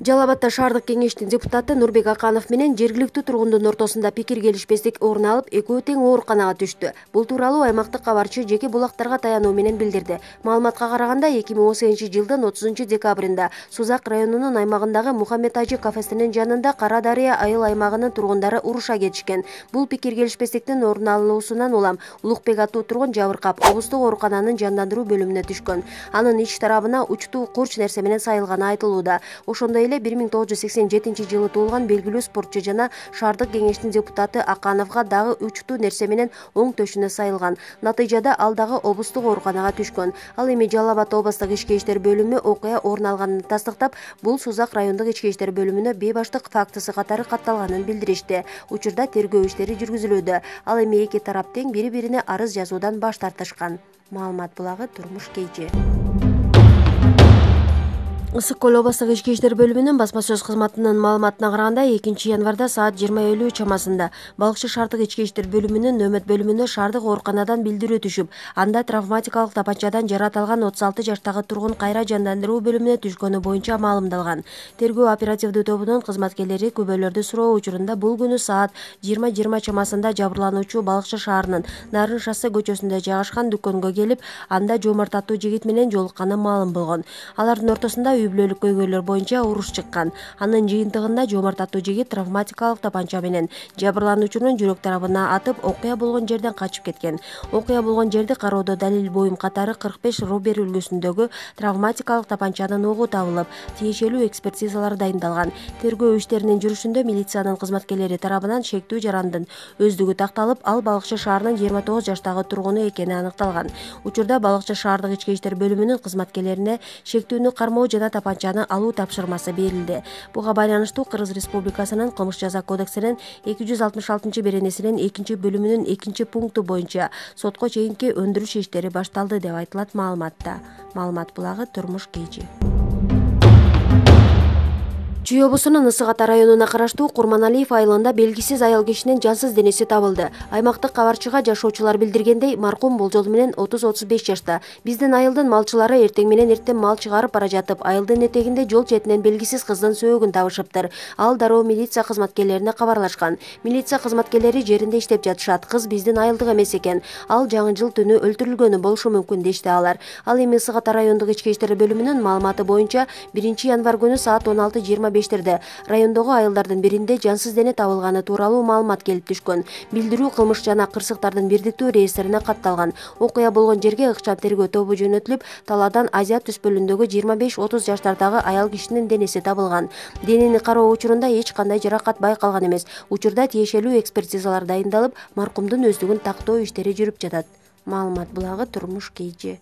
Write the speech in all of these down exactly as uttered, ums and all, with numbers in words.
Жалал Абадта шаардык кеңештин депутаты Нурбек Аканов менен жергиликтүү тургундун ортосунда пикир келишпестик орун алып, экөө тең ооруканага түштү. Бул тууралуу аймактык кабарчы жеке булактарга таянуу менен билдирди. Маалыматка караганда, эки миң он сегизинчи жылдын отузунчу декабрында Сузак районунун аймагындагы Мухаммед Ажы кафесинин жанында Кара Дарыя айыл аймагынын тургундары уруша кетишкен. Бул пикир келишпестиктин орун алуусунан улам Улукбек аттуу тургун жабыркап, облустук оорукананын жандандыруу бөлүмүнө түшкөн. Анын ич тарабына учтуу курч нерсе менен сайылганы айтылууда. Ошондой эле бир миң тогуз жүз сексен жетинчи жылы туулган белгилүү спортчу жана шаардык кеңештин депутаты Акановго дагы учтуу нерсе менен оң төшүнө сайылган. Натыйжада ал дагы облустук ооруканага түшкөн. Ал эми Жалал Абад облустук ички иштер бөлүмү окуя орун алганын тастыктап, бул Сузак райондук ички иштер бөлүмүнө бейбаштык фактысы катары катталганын билдиришти. Учурда тергөө иштери жүргүзүлүүдө. Ал эми эки тарап тең бири-бирине арыз жазуудан баш тартышкан. Маалымат булагы Турмуш Кейжи. Ысык көл облустук ички иштер бөлүмүнүн басма сөз кызматынын маалыматына караганда, экинчи январда саат жыйырма элүү чамасында Балыкчы шаардык ички иштер бөлүмүнүн нөөмөт бөлүмүнө шаардык ооруканадан билдирүү түшүп, анда травматикалык тапанчадан жаратылган отуз алты жаштагы тургун кайра жандандыруу бөлүмүнө түшкөнү боюнча маалымдалган. Тергөө оперативдүү тобунун кызматкерлери күбөлөрдү суроо учурунда бул күнү саат жыйырма жыйырма чамасында жабырлануучу Балыкчы шаарынын Нарын шоссе көчөсүндө жайгашкан дүкөнгө келип, анда Жомарт аттуу жигит менен жолукканы маалым болгон. Алардын ортосунда үй бүлөлүк көйгөйлөр боюнча уруш чыккан. Анын жыйынтыгында Жомарт аттуу жигит травматикалык тапанча менен жабырлануучунун жүрөк тарабына атып, окуя болгон жерден качып кеткен. Окуя болгон жерди кароодо далил буюм катары кырк беш Рубер үлгүсүндөгү травматикалык тапанчанын огу табылып, тиешелүү экспертизалар дайындалган. Тергөө иштеринин жүрүшүндө милициянын кызматкерлери тарабынан шектүү жарандын өздүгү такталып, ал Балыкчы шаарынын жыйырма тогуз жаштагы тургуну экени аныкталган. Учурда Балыкчы шаардык ички иштер бөлүмүнүн кызматкерлерине шектүүнү кармоо жана тапанчаны алуу тапшырмасы берилди. Буга байланыштуу Кыргыз Республикасынын Кылмыш жаза кодексинин эки жүз алтымыш алтынчы беренесинин экинчи бөлүмүнүн экинчи пункту боюнча сотко чейинки өндүрүш иштери башталды деп айтылат маалыматта. Маалымат булагы Турмуш Кейжи. Чүй облусунун Ысык Ата районуна караштуу Курманалиев айылында белгисиз аял кишинин жансыз денеси табылды. Аймактык кабарчыга жашоочулар билдиргендей, маркум болжол менен отуз отуз беш жашта. Биздин айылдын малчылары эртең менен эртең мал чыгарып бара жатып, айылдын этегинде жол четинен белгисиз кыздын сөөгүн табышыптыр. Ал дароо милиция кызматкерлерине кабарлашкан. Милиция кызматкерлери жеринде иштеп жатышат. Кыз биздин айылдык эмес экен. Ал жаңы жыл түнү өлтүрүлгөнү болушу мүмкүн дешти алар. Ал эми Ысык Ата райондук ички иштер бөлүмүнүн маалыматы боюнча биринчи январ күнү саат он алты жыйырма бештерде райондогу айылдардын биринде жансыз дене табылганы тууралуу маалымат келип түшкөн. Билдирүү кылмыш жана кырсыктардын бирдиктүү реестрине катталган. Окуя болгон жерге ыкчам тергөө тобу жөнөтүлүп, талаадан Азия түспөлүндөгү жыйырма беш отуз жаштардагы аял кишинин денеси табылган. Денени кароо учурунда эч кандай жаракат байкалган эмес. Учурда тиешелүү экспертизалар дайындалып, маркумдун өздүгүн тактоо иштери жүрүп жатат. Маалымат булагы Турмуш Кейжи.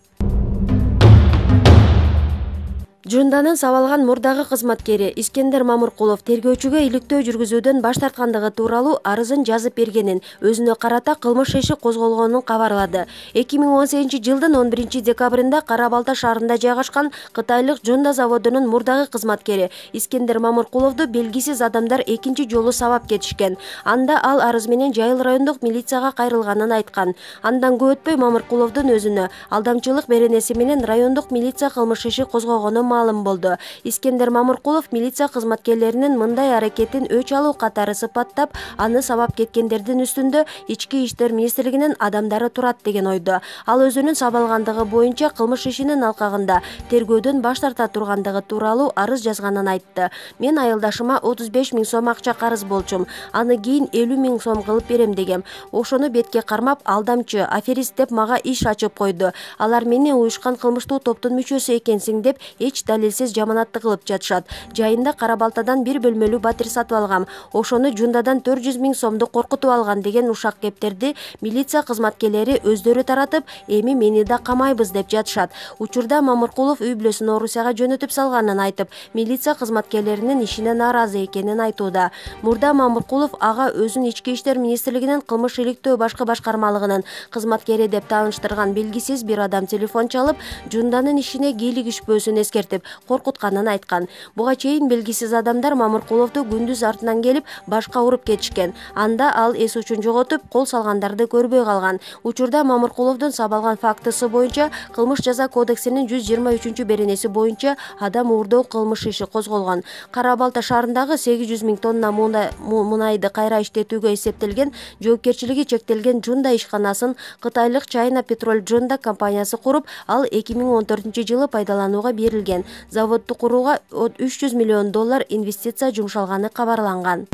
Жунданын сабалган мурдагы кызматкери Искендер Мамыркулов тергөөчүгө иликтөө жүргүзүүдөн баш тарткандыгы тууралуу арызын жазып бергенин, өзүнө карата кылмыш иши козголгонун кабарлады. эки миң он сегизинчи жылдын он биринчи декабрында Кара Балта шаарында жайгашкан кытайлык Жунда заводунун мурдагы кызматкери Искендер Мамыркуловду белгисиз адамдар экинчи жолу сабап кетишкен. Анда ал арыз менен Жайыл райондук милицияга кайрылганын айткан. Андан көп өтпөй Мамыркуловдун өзүнө алдамчылык беренеси менен райондук милиция кылмыш иши козгогону маалым болду. Искендер Мамыркулов милиция кызматкерлеринин мындай аракетин өч алуу катары сыпаттап, аны сабап кеткендердин үстүндө Ички иштер министрлигинин адамдары турат деген ойдо. Ал өзүнүн сабалгандыгы боюнча кылмыш ишинин алкагында тергөөдөн баш тарта тургандыгы тууралуу арыз жазганын айтты. Мен айылдашыма отуз беш миң сом акча карыз болчум. Аны кийин элүү миң сом кылып берем дегем. Ошону бетке кармап, алдамчы, аферист деп мага иш ачып койду. Алар мени уюшкан кылмыштуу топтун мүчөсү экенсиң деп эч далилсиз жаманатты кылып жатышат. Жайында Кара Балтадан бир бөлмөлүү батир сатып алгам. Ошону Жундадан төрт жүз миң сомду коркутуп алган деген ушак кептерди милиция кызматкерлери өздөрү таратып, эми мени да камайбыз деп жатышат. Учурда Мамыркулов үй бүлөсүн Орусияга жөнөтүп салганын айтып, милиция кызматкерлеринин ишине нааразы экенин айтууда. Мурда Мамыркулов ага өзүн Ички иштер министрлигинин кылмыш иликтөө башкы башкармалыгынын кызматкери деп тааныштырган белгисиз бир адам телефон чалып, Жунданын ишине кийлигишпөөсүн эскерткен. эскертип коркутканын айткан. Буга чейин белгисиз адамдар Мамыркуловду күндүз артынан келип башка уруп кетишкен. Анда ал эс учун жоготуп, кол салгандарды көрбөй калган. Учурда Мамыркуловдун сабалган фактысы боюнча кылмыш жаза кодексинин жүз жыйырма үчүнчү беренеси боюнча адам уурдоо кылмыш иши козголгон. Кара Балта шаарындагы сегиз жүз миң тонна мунайды кайра иштетүүгө эсептелген жоопкерчилиги чектелген Жунда ишканасын кытайлык China Petrol Жунда компаниясы куруп, ал эки миң он төртүнчү жылы пайдаланууга берилген. Заводду курууга үч жүз миллион доллар инвестиция жумшалганы кабарланган.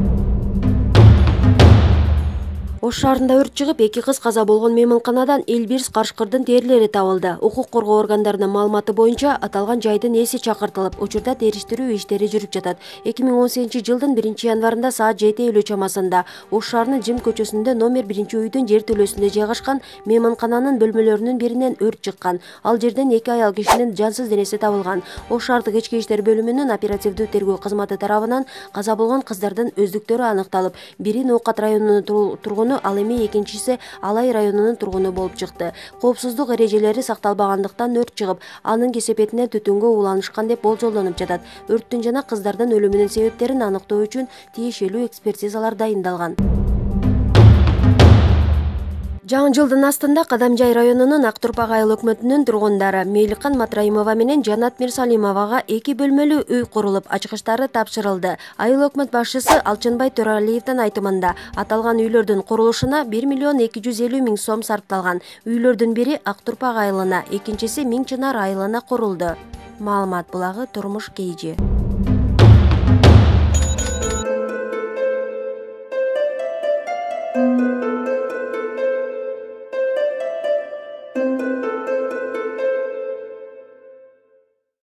Ош шаарында өрт чыгып, эки кыз каза болгон мейманканадан Элбирс Карышкырдын терилери табылды. Укук коргоо органдарынын маалыматы боюнча, аталган жайдын ээси чакыртылып, учурда териштирүү иштери жүрүп жатат. эки миң он сегизинчи жылдын биринчи январында саат жети элүү чамасында Ош шаарынын Жим көчөсүндө номер биринчи үйдүн жер төлөөсүндө жайгашкан мейманкананын бөлмөлөрүнүн биринен өрт чыккан. Ал жерден эки аял кишинин жансыз денеси табылган. Ош шаардык ички иштер бөлүмүнүн оперативдүү тергөө кызматы тарабынан каза болгон кыздардын өздүктөрү аныкталып, бири Ноокат районунун тургуну, ал эми экинчиси Алай районунун тургуну болуп чыкты. Коопсуздук эрежелери сакталбагандыктан өрт чыгып, анын кесепетинен түтүнгө уланышкан деп болжолдонуп жатат. Өрттүн жана кыздардын өлүмүнүн себептерин аныктоо үчүн тиешелүү экспертизалар дайындалган. Жаңы жылдын астында Кадамжай районунун Актурпак айыл өкмөтүнүн тургундары Мейликан Матраимова менен Жанат Мирсалимовага эки бөлмөлүү үй курулуп, ачкычтары тапшырылды. Айыл өкмөт башчысы Алчынбай Төралиевдин айтымында, аталган үйлөрдүн курулушуна бир миллион эки жүз элүү миң сом сарпталган. Үйлөрдүн бири Актурпак айылына, экинчиси Миң Чынар айылына курулду. Маалымат булагы Турмуш Кейжи.